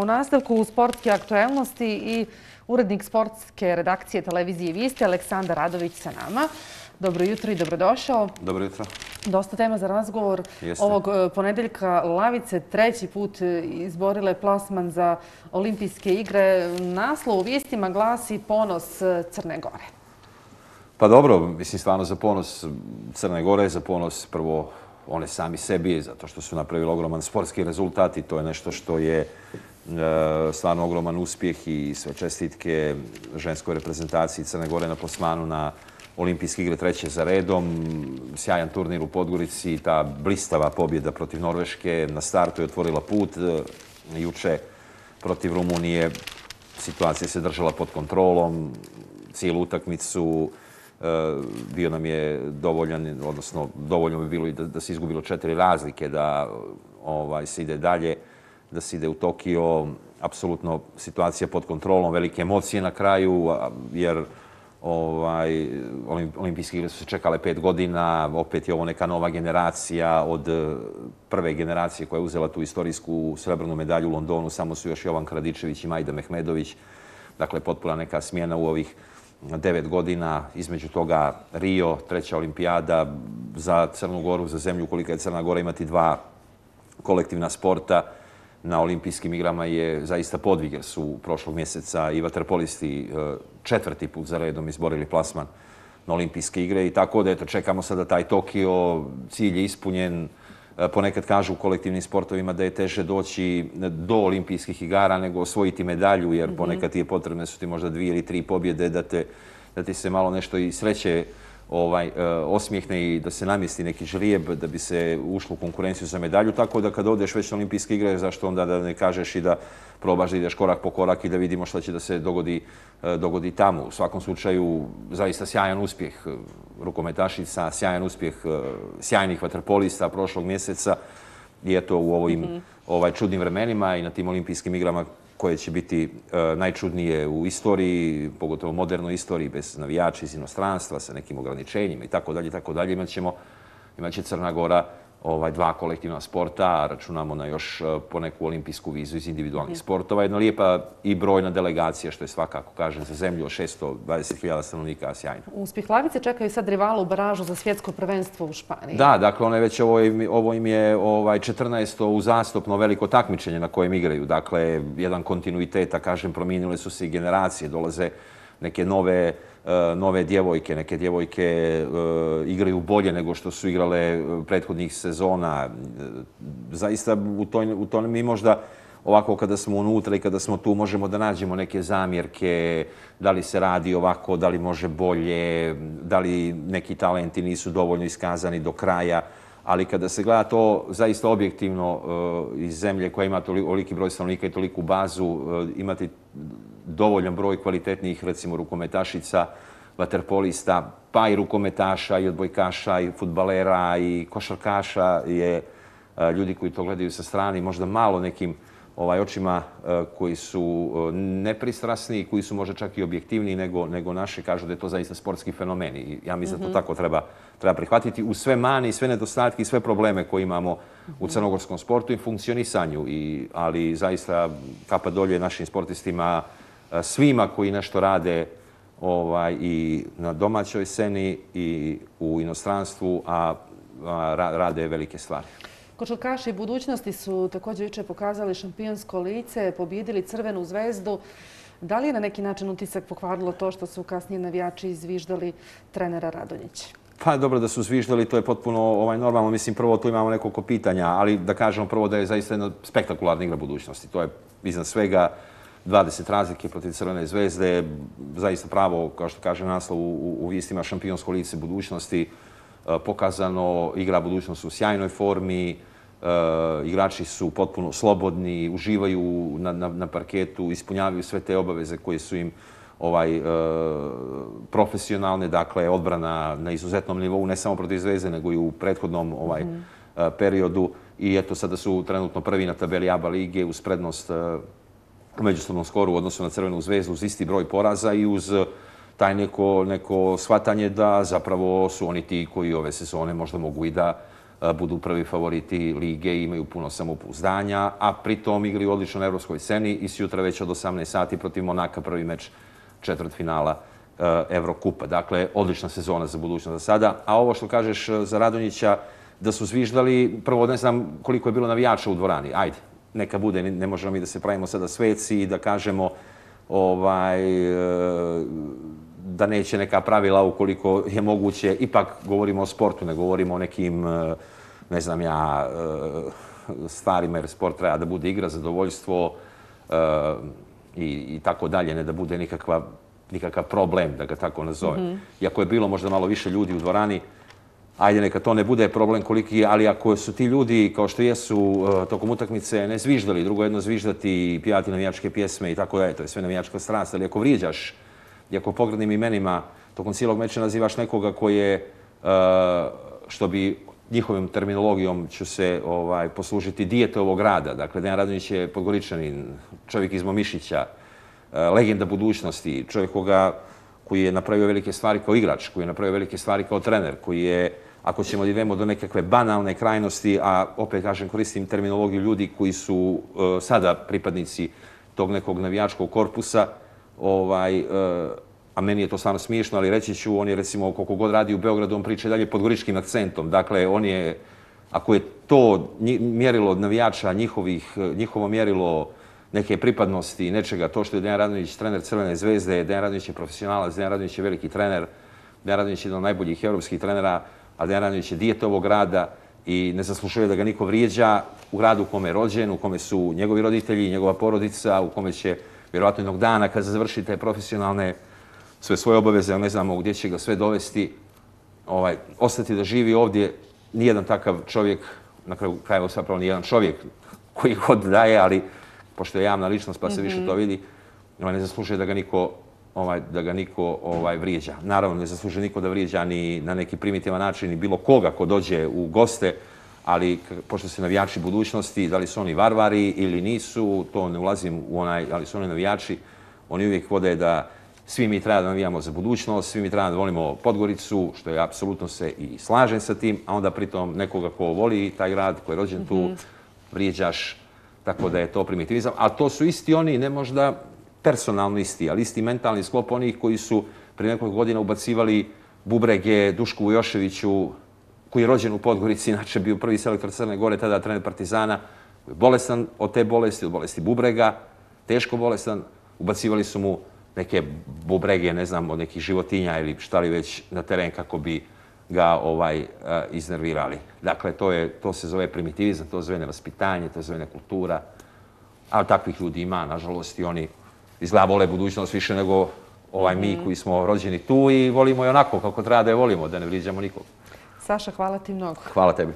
U nastavku sportske aktuelnosti i urednik sportske redakcije televizije Vijesti, Aleksandar Radović sa nama. Dobro jutro i dobrodošao. Dobro jutro. Dosta tema za razgovor. Ovog ponedeljka Lavice treći put izborile plasman za olimpijske igre. Naslov u vijestima glasi Ponos Crne Gore. Pa dobro, mislim stvarno za ponos Crne Gore, za ponos prvo one sami sebi, zato što su napravili ogroman sportski rezultat i to je nešto što je stvarno ogroman uspjeh i sve čestitke ženskoj reprezentaciji Crne Gore na plasmanu na olimpijske igre treće za redom. Sjajan turnir u Podgorici, ta blistava pobjeda protiv Norveške na startu je otvorila put. Juče protiv Rumunije situacija se držala pod kontrolom. Cijelu utakmicu bio nam je dovoljan, odnosno dovoljno bi bilo i da se izgubilo 4 razlike, da se ide dalje, da se ide u Tokio. Apsolutno situacija pod kontrolom, velike emocije na kraju, jer olimpijske igre su se čekale 5 godina, opet je ovo neka nova generacija od prve generacije koja je uzela tu istorijsku srebrnu medalju u Londonu, samo su još Jovan Kradičević i Majda Mehmedović. Dakle, potpuna neka smjena u ovih 9 godina, između toga Rio, treća olimpijada za Crnu Goru, za zemlju kolika je Crna Gora, imati 2 kolektivna sporta na olimpijskim igrama je zaista podvig, jer su prošlog mjeseca i vaterpolisti 4. put za redom izborili plasman na olimpijske igre i tako da eto, čekamo sada taj Tokio, cilj je ispunjen. Ponekad kažu u kolektivnim sportovima da je teže doći do olimpijskih igara nego osvojiti medalju, jer ponekad ti je potrebne su ti možda 2 ili 3 pobjede da ti se malo nešto i sreće osmijehne i da se namjesti neki žrijeb da bi se ušlo u konkurenciju za medalju. Tako da kad odeš već na olimpijske igre, zašto onda da ne kažeš i da probaš da ideš korak po korak i da vidimo što će da se dogodi tamo. U svakom slučaju, zaista sjajan uspjeh rukometašica, sjajan uspjeh sjajnih vaterpolista prošlog mjeseca i eto u ovim čudnim vremenima i na tim olimpijskim igrama koje će biti najčudnije u istoriji, pogotovo modernoj istoriji, bez navijača iz inostranstva, sa nekim ograničenjima i tako dalje, imat će Crna Gora 2 kolektivna sporta, a računamo na još poneku olimpijsku vizu iz individualnih sportova. Jedna lijepa i brojna delegacija, što je svakako, kažem, za zemlju od 620.000 stanovnika, sjajno. Uspjeh Lavice čekaju sad rivalu u baražu za svjetsko prvenstvo u Španiji. Da, dakle, one već ovo im je 14. uzastopno veliko takmičenje na kojem igraju. Dakle, jedan kontinuitet, a kažem, promijenile su se i generacije, dolaze neke nove djevojke, neke djevojke igraju bolje nego što su igrale prethodnih sezona. Zaista u tome mi možda ovako kada smo unutra i kada smo tu možemo da nađemo neke zamjerke, da li se radi ovako, da li može bolje, da li neki talenti nisu dovoljno iskazani do kraja, ali kada se gleda to zaista objektivno iz zemlje koja ima toliki broj stanovnika i toliku bazu, imati dovoljan broj kvalitetnih, recimo, rukometašica, vaterpolista, pa i rukometaša, i odbojkaša, i fudbalera, i košarkaša, je ljudi koji to gledaju sa strane, možda malo nekim očima koji su nepristrasni, koji su možda čak i objektivniji nego naši, kažu da je to zaista sportski fenomen. I ja mislim da to tako treba prihvatiti uz sve mane i sve nedostatke i sve probleme koje imamo u crnogorskom sportu i funkcionisanju. Ali zaista kapa dolje našim sportistima, svima koji nešto rade i na domaćoj sceni i u inostranstvu, a rade velike stvari. Košarkaši budućnosti su također jučer pokazali šampionsko lice, pobijedili Crvenu zvezdu. Da li je na neki način utisak pokvarilo to što su kasnije navijači izviždali trenera Radonjića? Pa dobro da su zviždali, to je potpuno normalno. Mislim, prvo tu imamo nekoliko pitanja, ali da kažemo prvo da je zaista jedna spektakularna igra budućnosti. To je iznad svega 20 razlike protiv Crvene zvezde, zaista pravo, kao što kaže naslov u vijestima, šampionsko lice budućnosti, pokazano, igra budućnost u sjajnoj formi, igrači su potpuno slobodni, uživaju na parketu, ispunjavaju sve te obaveze koje su im profesionalne, dakle odbrana na izuzetnom nivou, ne samo protiv Zvezde, nego i u prethodnom periodu. I eto, sada su trenutno prvi na tabeli ABA lige uz prednost u međusobnom skoru u odnosu na Crvenu zvezdu uz isti broj poraza i uz taj neko shvatanje da zapravo su oni ti koji ove sezone možda mogu i da budu prvi favoriti lige i imaju puno samopouzdanja, a pritom igraju odlično na evropskoj sceni i sutra već od 18 sati protiv Monaka prvi meč četvrtfinala Evrokupa. Dakle, odlična sezona za budućnost za sada. A ovo što kažeš za Radonjića, da su zviždali, prvo ne znam koliko je bilo navijača u dvorani. Ajde, neka bude, ne možemo mi da se pravimo sada sveci i da kažemo da neće neka pravila ukoliko je moguće. Ipak govorimo o sportu, ne govorimo o nekim, ne znam ja, stvarima, jer sport treba da bude igra, zadovoljstvo i tako dalje, ne da bude nikakav problem, da ga tako nazovem. Iako je bilo možda malo više ljudi u dvorani, ajde, neka to ne bude problem koliki, ali ako su ti ljudi, kao što jesu tokom utakmice, ne zviždali, drugo jedno zviždati i pjevati navijačke pjesme i tako dalje, to je sve navijačka strast, ali ako vrijeđaš i ako pogrdnim imenima tokom cijelog meča nazivaš nekoga koji je, što bi njihovim terminologijom ću se poslužiti, dijete ovog grada. Dakle, Dejan Radonjić je Podgoričanin, čovjek iz Momišića, legenda budućnosti, čovjek koji je napravio velike stvari kao igrač, koji je napravio velike stvari kao trener, koji je, ako ćemo da idemo do nekakve banalne krajnosti, a opet kažem, koristim terminologiju ljudi koji su sada pripadnici tog nekog navijačkog korpusa, a meni je to stvarno smiješno, ali reći ću, on je recimo koliko god radi u Beogradu, on priča dalje podgoričkim akcentom. Dakle, on je, ako je to mjerilo od navijača njihovo mjerilo neke pripadnosti i nečega, to što je Dejan Radonjić trener Crvene zvezde, Dejan Radonjić je profesionalac, Dejan Radonjić je veliki trener, Dejan Radonjić je jedan od najboljih evropskih trenera, a Dejan Radonjić je dijete ovog grada i ne zaslužuje da ga niko vrijeđa u gradu u kome je rođen, u kome su njegovi roditelji, njegova porodica, u kome će vjerovatno jednog dana kad završi te profesionalne sve svoje obaveze, ne znamo gdje će ga sve dovesti, ostati da živi ovdje. Nijedan takav čovjek, na kraju krajeva zapravo nijedan čovjek koji god daje, ali pošto je javna ličnost pa se više to vidi, ne zaslužuje da ga niko vrijeđa. Naravno, ne zaslužuje niko da vrijeđa ni na neki primitivan način ni bilo koga ko dođe u goste, ali pošto se navijači budućnosti, da li su oni varvari ili nisu, to ne ulazim u ali su oni navijači, oni uvijek vode da svi mi treba da navijamo za budućnost, svi mi treba da volimo Podgoricu, što je apsolutno se i slažem sa tim, a onda pritom nekoga ko voli taj grad, ko je rođen tu, vrijeđaš, tako da je to primitivizam. A to su isti oni, ne možda personalno isti, ali isti mentalni sklop onih koji su prije nekoliko godina ubacivali bubrege Dušku Vujoševiću, koji je rođen u Podgorici, inače bio prvi selektor Crne Gore, tada trener Partizana, bolestan od te bolesti, od bolesti bubrega, teško bolestan, ubacivali su mu neke bubrege, ne znam, od nekih životinja ili šta li već na teren kako bi ga iznervirali. Dakle, to se zove primitivizam, to se zove nevaspitanje, to se zove nekultura, ali takvih ljudi ima, nažalost, i oni izgleda vole budućnost više nego mi koji smo rođeni tu i volimo je onako kako treba da je volimo, da ne vrijeđamo nikog. Saša, hvala ti mnogo. Hvala tebi.